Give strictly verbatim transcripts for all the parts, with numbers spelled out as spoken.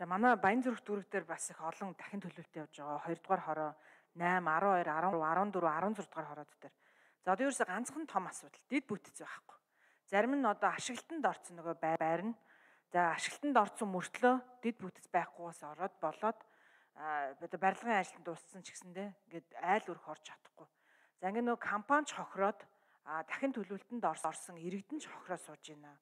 За манай Баянзүрх дүүрэг дээр бас их олон дахин төлөвлөлт явж байгаа. хоёрдугаар хороо найман, арван хоёр, арван дөрөв, арван зург дугаар хороод дээр. За одоо ерөөсө ганцхан том асуудал дид бүтц байхгүй. Зарим нь одоо ашиглалтанд орсон нөгөө байрна. За ашиглалтанд орсон мөртлөө дид бүтц байхгүйгээс ороод болоод одоо барилгын ажилд дууссан ч гэсэндээ ингээд айл өрх орж чадахгүй. За ингээд нөгөө компани ч хохироод дахин төлөвлөлтөнд орсон иргэдэн ч хохироо сууж байна.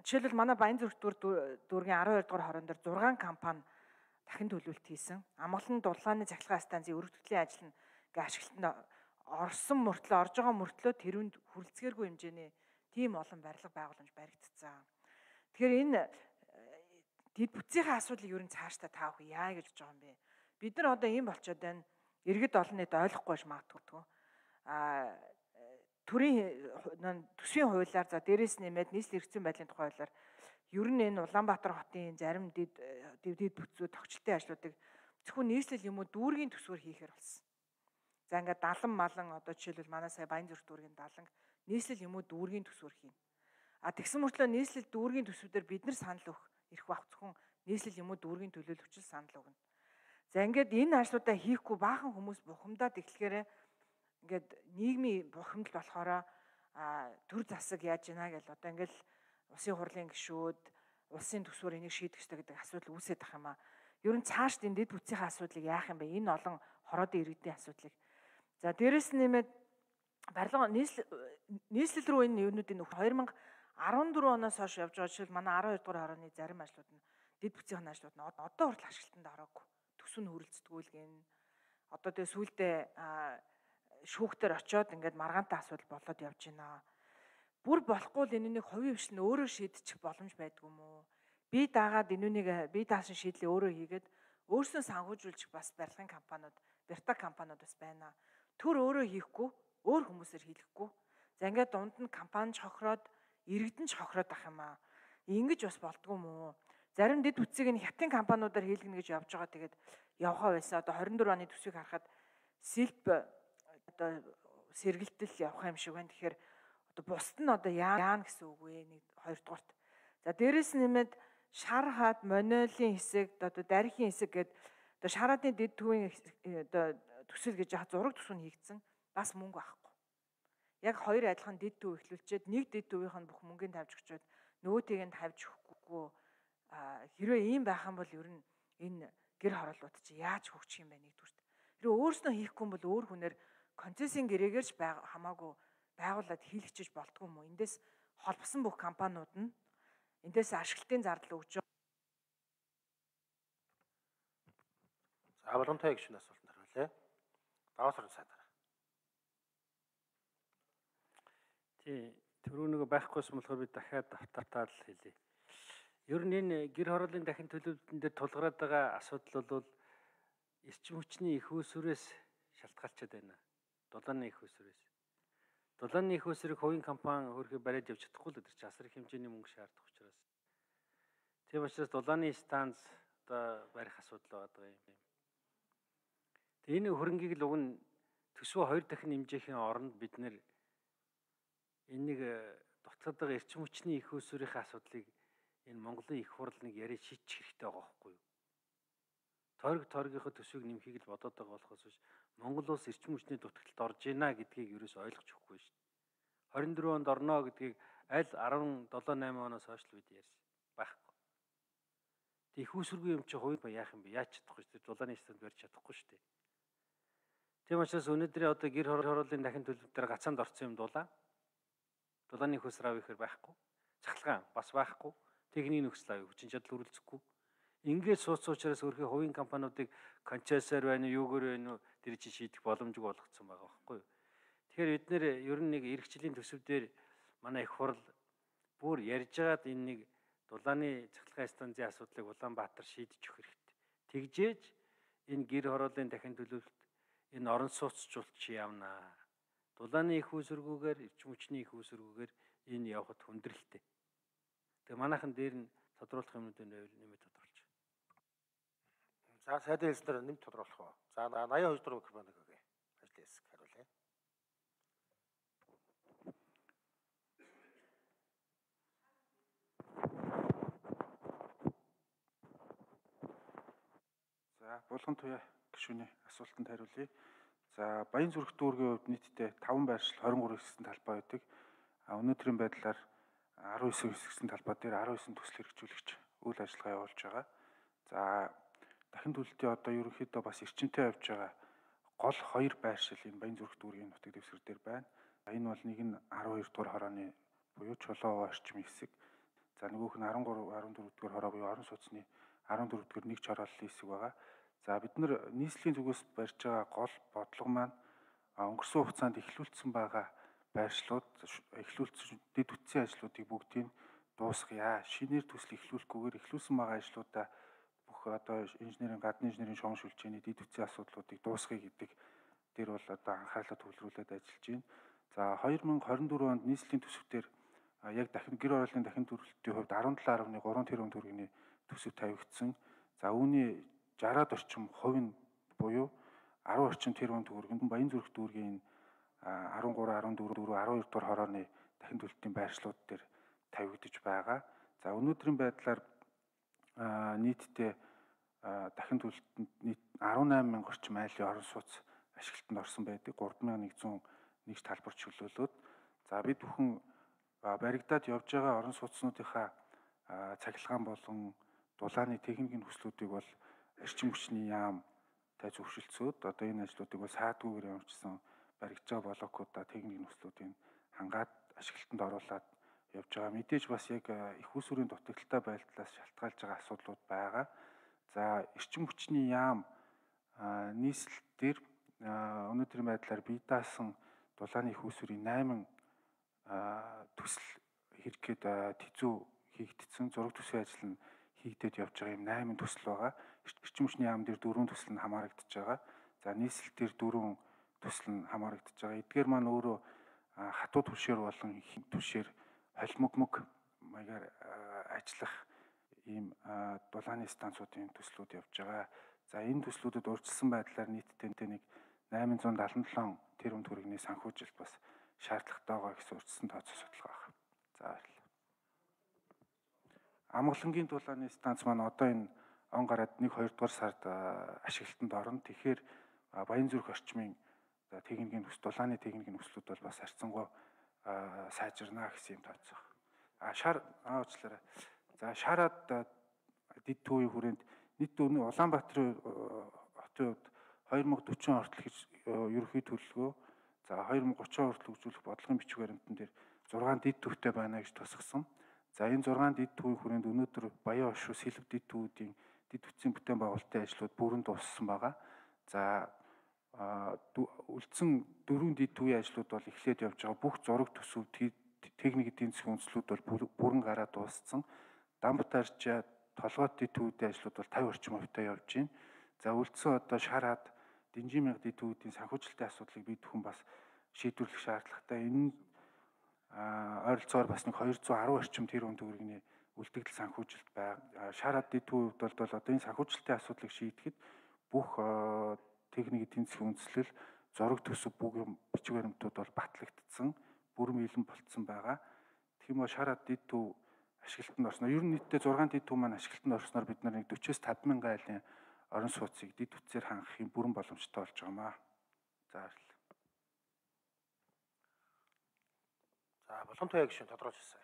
Жишээлбэл манай Баянзүрх дүүргийн арван хоёр дугаар хорон дээр зургаан компани дахин төлөвлөлт хийсэн. Амгалан дулааны цахилгаан станцын өргөдөлтийн ажил нь ингээ ашиглалтанд орсон мөртлөө орж байгаа мөртлөө тэрүүнд хүрэлцгээргүй хэмжээний тийм олон барилга байгууламж баригдсан. Тэгэхээр энэ дид бүтцийн асуудлыг ер нь цаашдаа таах яа гэж бодож байгаа юм бэ? Бид нар одоо ийм болчиход байна. Иргэд олон нийт ойлгохгүй байж магадгүй. Аа төрийн төсвийн хуулиар за дээрээс нэмээд нийслэл эрх зүйн байдлын тухай хуулиар ер нь энэ Улаанбаатар хотын зарим дид дид бүтцүүд тогтчлтын ажлуудыг зөвхөн нийслэл юм уу дүүргийн төсвөөр хийхээр болсон. За ингээд далан малан одоо жишээлбэл манай сая Баянзүрх дүүргийн даланг нийслэл юм уу дүүргийн төсвөөр хийн. А тэгсэн мөртлөө нийслэл дүүргийн төсвүүдээр бид нар санал өгөх эрх бах зөвхөн нийслэл юм уу дүүргийн төлөөлөгчл санал өгнө. За ингээд энэ ажлуудаа хийхгүй баахан хүмүүс бухимдаад эхлэхээр ингээд нийгмийн бухимдал болохоор төр засаг яаж ийна гэж одоо ингээл улсын хурлын гишүүд улсын төсвөр энийг шийдэх ёстой гэдэг асуудал үүсээд ах юм аа. Ер нь цааш дид бүтцийн асуудлыг яах юм бэ? Энэ олон хороодын иргэдийн асуудлыг. За дээрэс нэмээд барилга нийслэл нийслэл рүү энэ юунуудын хоёр мянга арван дөрөв оноос хойш явж байгаа жишээл манай арван хоёр дугаар хорооны зарим ажлууд нь дид бүтцийн ажлууд нь одоо хүртэл ашиглалтанд ороогүй. Төсөв нь хүрэлцдэггүй л одоо тэгээ сүүлдээ шүүхтэр очиод ингээд маргаантай асуудал болоод явж байна. Бүр болохгүй л энэнийг хувийн хвшил нь өөрөө шийдчих боломж байдгүй юм уу? Би дагаад энэнийг би даасан шийдлээ өөрөө хийгээд өөрснөө санхүүжүүлчих бас барилгын компаниуд, бертаг компаниуд бас байна. Төр өөрөө хийхгүй, өөр хүмүүсээр хийлгэхгүй. За ингээд дунд нь компани ч хохироод, иргэдэн ч хохироод ах юм аа. Ингэж бас болдгоо юм уу? Зарим дид бүтцийг нь хятадын компаниудаар хийлгэнэ гэж явж байгаа. Тэгээд явхаа байсан. Одоо хорин дөрөв оны төсвийг харахад сэлб одоо сэргэлтэл явах юм шиг байна. Тэгэхээр одоо бусд нь одоо яана гэсэн үг вэ? Нэг хоёрдугаарт. За дээрэс нэмээд шар хаад монолын хэсэг одоо дархийн хэсэг гэдэг одоо шараадны дид төвийн одоо төсөл гэж яах зураг төсөв нь хийгдсэн. Бас мөнгө авахгүй. Яг хоёр адилхан дид төв эхлүүлчихэд нэг дид төвийнх нь бүх мөнгөний тавьж өгчөөд нөгөөтэйг нь тавьж өгөхгүй. Хэрвээ ийм байх юм бол ер нь энэ гэр хороолууд чи яаж хөгжих юм бэ нэгдүгürt. Хэрвээ өөрснөө хийхгүй бол өөр хүнээр концессийн гэрээгээрч хамаагүй байгууллаад хийлгчиж болтгүй юм уу? Эндээс холбосон бүх компаниуд нь эндээс ашиглалтын зардал өгж байгаа. За боломжтой гişүн асуултанд хариулъя. Даваас орон сайдаар. Тий, түрүү нэг байхгүйсэн болохоор би дахиад давтартаа л хэлье. Ер нь энэ гэр хорооллын дахин төлөвлөлтөн дээр тулгараад байгаа асуудал бол эрчим хүчний их үүсвэрээс шалтгаалчаад байна. Дулааны их үүсвэрээс. Дулааны их үүсвэрийг хувийн компани хөрхий бариад явж чадахгүй л өдөр чи асар их хэмжээний мөнгө шаардах учраас. Тийм учраас дулааны станц одоо барих асуудал байгаа юм. Тэгээ энэ хөрөнгийг л уг нь төсвөө хоёр дахин нэмжээхийн оронд бид нэр энийг дутагдаад байгаа эрчим хүчний их үүсвэрийн асуудлыг энэ Монголын их хурл нэг яриа шийдчих хэрэгтэй байгаа байхгүй юу? Торг торгийнхоо төсвийг нэмхийг л бодоод байгаа болохоос биш Монгол улс эрчим хүчний дутагдлалд орж ийна гэдгийг ерөөс ойлгож өгөхгүй шүү дээ. хорин дөрөв онд орно гэдгийг аль арван долоо найман оноос хойш л бид ярьсан байхгүй. Тэг их үүсвэргүй юм чи хувийн яах юм бэ? Яаж чадахгүй шүү дээ. Дулааны станд барьж чадахгүй шүү дээ. Тийм учраас өнөөдрийн одоо гэр хорооллын дахин төлөвлөлтөөр гацаанд орсон юм дулаан. Дулааны их үүсвэр авъя гэхээр байхгүй. Цахилгаан бас байхгүй. Техникийн нөхцөл авъя хүчин чадал хүрэлцэхгүй. Ингээд сууц учраас өөрхий хувийн компаниудыг концессор байна уу, юугээр байна уу тэр чинь шийдэх боломжгүй болгоцсон байгаа байхгүй юу. Тэгэхээр бид нэр ер нь нэг эрхчлэлийн төсөв дээр манай их хурл бүр ярьж байгаад энэ нэг дулааны цахилгаан станцын асуудлыг Улаанбаатар шийдэж өгөх хэрэгтэй. Тэгжээж энэ гэр хорооллын дахин төлөвлөлт энэ орон сууцчлалт чи явнаа. Дулааны их үүсвэргүйгээр эрчим хүчний их үүсвэргүйгээр энэ явахд хүндрэлтэй. Тэгээ манайхан дээр нь тодруулах юмнуудыг нэмээд тодруулж. За сайдын хэлснээр нэмж тодруулах уу. За наяа хоёр дөрөв микрофоныг өгье. Ажлын хэсэг хариулъя. Булган туяа гишүүний асуултанд хариулъя. За Баян зүрх дүүргийн хувьд нийтдээ таван байршил двадцать три хэсэгсэн талбай байдаг. А өнөөдрийн байдлаар десять хэсэгсэн талбай дээр десять төсөл хэрэгжүүлэгч үйл ажиллагаа явуулж байгаа. За дахин төлөлтийн одоо ерөнхийдөө бас эрчимтэй явж байгаа гол хоёр байршил энэ Баян зүрх дүүргийн нутаг дэвсгэр дээр байна. Энэ бол нэг нь twelve дугаар хорооны буюу Чулуу орчмын хэсэг. За нөгөөх нь thirteen fourteen дугаар хороо буюу орон сууцны fourteen дугаар нэг чорооллын хэсэг байгаа. За бид нар нийслэлийн зүгээс барьж байгаа гол бодлого маань өнгөрсөн хугацаанд эхлүүлсэн байгаа байршлууд, эхлүүлсэн дэд үтсийн ажлуудыг бүгдийг дуусгая. Шинээр төсөл эхлүүлэхгүйгээр эхлүүлсэн байгаа ажлуудаа бүх одоо инженерийн гадны инженерийн шугам шүлжээний дэд үтсийн асуудлуудыг дуусгая гэдэг дээр бол одоо анхаарлаа төвлөрүүлээд ажиллаж байна. За twenty twenty-four онд нийслэлийн төсөвтөр яг дахин гэр орооллын дахин төлөлтийн хувьд seventeen point three тэрбум төгрөгийн төсөв тавигдсан. За үүний sixty-аад орчим хувь нь буюу ten орчим тэрбум төгрөгийн Баян зүрх дүүргийн thirteen fourteen twelve twelve дугаар хорооны дахин төлөлтийн байршлууд дээр тавигдж байгаа. За өнөөдрийн байдлаар нийтдээ дахин төлөлтөнд нийт eighty-eight мянган орчим айлын орон сууц ашиглалтанд орсон байдаг. three thousand one hundred one талбар чөлөөлөөд за бид бүхэн баригдаад явж байгаа орон сууцнуудынхаа цахилгаан болон дулааны техникийн хүслүүдийг бол эрчим хүчний яамтай зөвшөлдсөд одоо энэ ажлуудыг бол саадгүйгээр явуулсан баригдж байгаа блокуудаа техникийн хүслүүдийг хангаад ашиглалтанд оруулаад явж байгаа. Мэдээж бас яг их усүрийн дутагдaltaй байдлаас шалтгаалж байгаа асуудлууд байгаа. За эрчим хүчний яам нийслэл дээр өнөөдрийн байдлаар бие даасан дулааны их усүрийн eight төсөл хэрэггээд тэзүү хийгдсэн зураг төсвийн ажил нь хийгдээд явж байгаа юм eight төсөл байгаа. Эрчим хүчний яам дээр four төсөл нь хамаарагдаж байгаа. За нийслэл дээр four төсөл нь хамаарагдаж байгаа. Эдгээр маань өөрөө хатуу түвшээр болон их түвшээр холимогмог маягаар ажиллах ийм дулааны станцуудын төслүүд явж байгаа. За энэ төслүүдэд урьдчилсан байдлаар нийтдээ нэг eight seventy seven тэрбум төгрөгийн санхүүжилт бас шаардлагатай байгаа гэсэн урьдчилсан тооцоо судалгаа байна. За баярлалаа. Амгалангийн дулааны станц маань одоо энэ он гараад one two дугаар сард ашиглалтанд орно. Тэгэхээр Баян зүрх орчмын техникийн төс дулааны техникийн төслүүд бол бас харьцангуй сайжирна гэсэн юм тооцоо. А шар аачлаарай. За шараад дэд төвийн хүрээнд нийт өнөө Улаанбаатарын хотын хувьд twenty forty хүртэл ерөнхий төлөвлөгөө за twenty thirty хүртэл үзүүлэх бодлогын бичиг баримтан дээр six дэд төвтэй байна гэж тусгасан. За энэ six дэд төвийн хүрээнд өнөөдөр Баян Оршуу Сэлб дэд төвүүдийн дэд үтсийн бүтээн байгуулалтын ажлууд бүрэн дууссан байгаа. За үлдсэн дөрвөн дэд төвийн ажлууд бол эхлээд явж байгаа. Бүх зураг төсөв техник эдийн засгийн үндэслүүд бол бүрэн гараад дууссан. Дамбат арчаа толгойд дэд төвүүдийн ажлууд бол fifty орчим хувьтай явж байна. За үлдсэн одоо шараад Дэнжин мянга дэд төвүүдийн санхүүжилтийн асуудлыг бид бүхэн бас шийдвэрлэх шаардлагатай. Энэ ойролцоогоор бас нэг two hundred ten орчим тэрбум төгрөгийн үлдэгдэл санхүүжилт байг. Шараад дэд төвүүд бол одоо энэ санхүүжилтийн асуудлыг шийдэхэд бүх техник эдийн засгийн үндэслэл зураг төсөв бүх бичиг баримтууд бол батлагдсан, бүрэн бэлэн болцсон байгаа. Тэгэх юм бол шараад дэд төв ашиглалтанд орсноор ер нь нийтдээ six дэд төв маань ашиглалтанд орсноор бид нар нэг forty-five thousand айлын орон сууцыг дэд үтсээр хангахын бүрэн боломжтой болж байгаа маа. За баярлалаа. За Булган туяа гишүүн тодорхойлж ирсэн.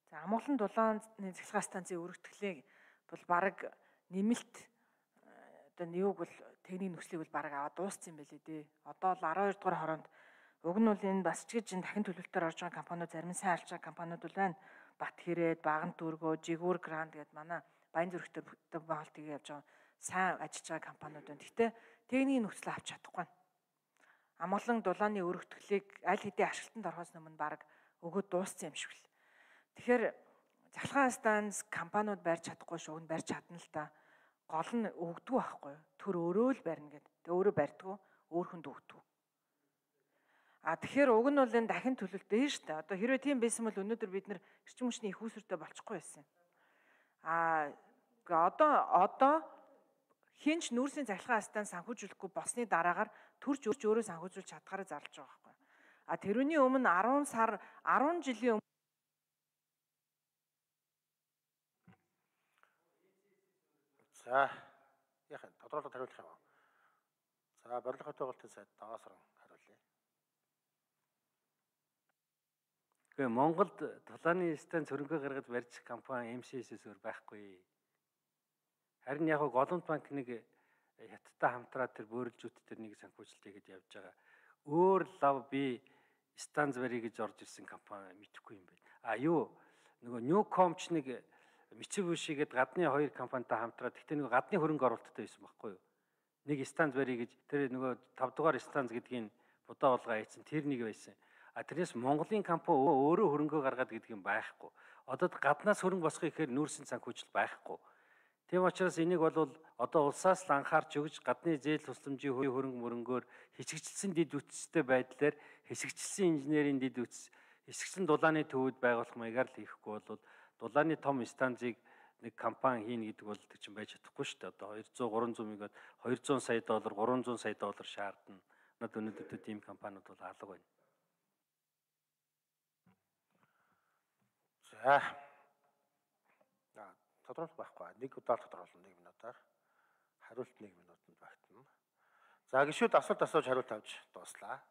За Амгалан дулааны цахилгаан станцын өргөтгөлийг бол бараг нэмэлт одоо нёг бол техникийн нөхцөлийг бол бараг аваад дууссан юм байлээ дээ. Одоо л twelve дугаар хороонд уг нь бол энэ бас ч гэж дахин төлөвлөлтөөр орж байгаа компаниуд зарим нь сайн алж байгаа компаниуд бол байна. Бат хэрээд, Баган дүүргөө, Жигүүр гранд гэдэг манай Баян зүрх төр байгуулалтыг явж байгаа сайн ажиллаж байгаа компаниуд байна. Гэхдээ техникийн нөхцөл авч чадахгүй. Амгалан дулааны өргөтгөлийг аль хэдийн ашиглалтанд орохоос өмнө бараг өгөөд дууссан юм шиг л. Тэгэхээр цахилгаан станц компаниуд барьж чадахгүй шүүг нь барьж чадна л та. Гол нь өгдөг байхгүй. Төр өөрөө л барина гэдэг. Тэг өөрөө барьдгүй, өөр хүнд өгдөг. А тэгэхээр уг нь бол энэ дахин төлөлт дээ шүү дээ. Одоо хэрвээ тийм байсан бол өнөөдөр бид нэр эрчим хүчний их үүсвэртэй болчихгүй байсан. А одоо одоо хинч нүүрсийн цахилгаан станц санхүүжүүлэхгүй болсны дараагаар төрж өөрч өөрөө санхүүжүүлж чадхаараа зарлж байгаа байхгүй. А тэрүүний өмнө ten сар ten жилийн За яах вэ? Тодорхойлолт хариулах юм уу? За барилга хотоогоолтын сайд Даваасран хариулъя. Гэхдээ Монголд тулааны станц хөрөнгө гаргаж барьж компани эм си эс-с өөр байхгүй. Харин яг голомт банк нэг хятадтай хамтраад тэр бөөрөлжүүд тэр нэг санхүүжилт хийгээд явж байгаа. Өөр лав би станц барья гэж орж ирсэн компани мэдэхгүй юм байна. А юу нөгөө Newcom ч нэг Mitsubishi гээд гадны хоёр компанитай хамтраад гэхдээ нөгөө гадны хөрөнгө оруулалттай байсан байхгүй юу? Нэг станц барья гэж тэр нөгөө тавь дугаар станц гэдгийг будаа болгоо хийсэн тэр нэг байсан. А тэрнээс Монголын компани өөрөө хөрөнгөө гаргаад гэдэг юм байхгүй. Одоо гаднаас хөрөнгө босгох ихээр нүүрсэн санхүүжил байхгүй. Тийм учраас энийг бол одоо улсаас л анхаарч өгж гадны зээл тусламжийн хөрөнгө мөрөнгөөр хэсэгчлсэн дэд үтцтэй байдлаар хэсэгчлсэн инженерийн дэд үтц хэсэгчлэн дулааны төвөд байгуулах маягаар л хийхгүй бол дулааны том станцыг нэг компани хийнэ гэдэг бол тэр чинь байж чадахгүй шүү дээ. Одоо хоёр зуун гурван зуун мянгаад хоёр зуун сая доллар гурван зуун сая доллар шаардна. Надад өнөөдөр тийм компаниуд бол алга байна. За. Аа, тодорхойлох байхгүй. Нэг удаа тодорхойлно нэг минутаар. Хариулт нэг минутанд багтана. За гишүүд асуулт асууж хариулт авч дууслаа.